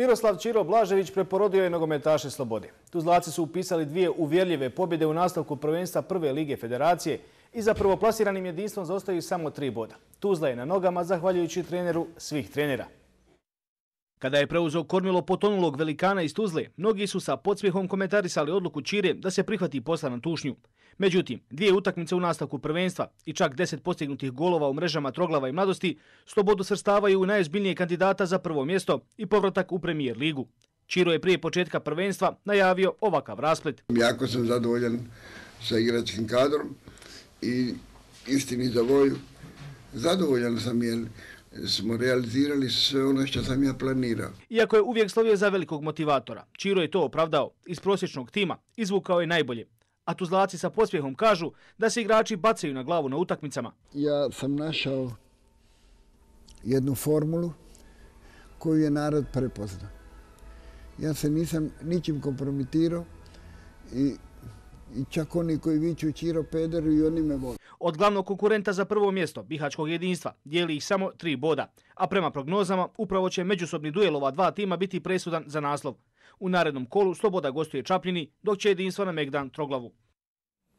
Miroslav Ćiro Blažević preporodio je nogometaše Slobode. Tuzlaci su upisali 2 uvjerljive pobjede u nastavku prvenstva Prve lige Federacije i za prvoplasiranim jedinstvom zaostaju samo 3 boda. Tuzla je na nogama zahvaljujući treneru svih trenera. Kada je preuzeo kormilo potonulog velikana iz Tuzle, mnogi su sa podsmjehom komentarisali odluku Ćire da se prihvati posla na tušnju. Međutim, 2 utakmice u nastavku prvenstva i čak 10 postignutih golova u mrežama Troglava i Mladosti Slobodu svrstavaju u najozbiljnije kandidata za prvo mjesto i povratak u Premijer ligu. Ćiro je prije početka prvenstva najavio ovakav rasplet. Jako sam zadovoljan sa igračkim kadrom i istini za volju. Zadovoljan sam jer smo realizirali sve ono što sam ja planirao. Iako je uvijek slovio za velikog motivatora, Ćiro je to opravdao. Iz prosječnog tima izvukao je najbolje. A Tuzlaci sa podsmjehom kažu da se igrači bacaju na glavu na utakmicama. Ja sam našao jednu formulu koju je narod prepoznao. Ja se nisam ničim kompromitirao i čak oni koji viču Ćiro pederu i oni me vole. Od glavnog konkurenta za prvo mjesto bihaćkog jedinstva dijeli ih samo 3 boda, a prema prognozama upravo će međusobni duel ova 2 tima biti presudan za naslov. U narednom kolu Sloboda gostuje Čapljini, dok će jedinstvo na Megdan Troglavu.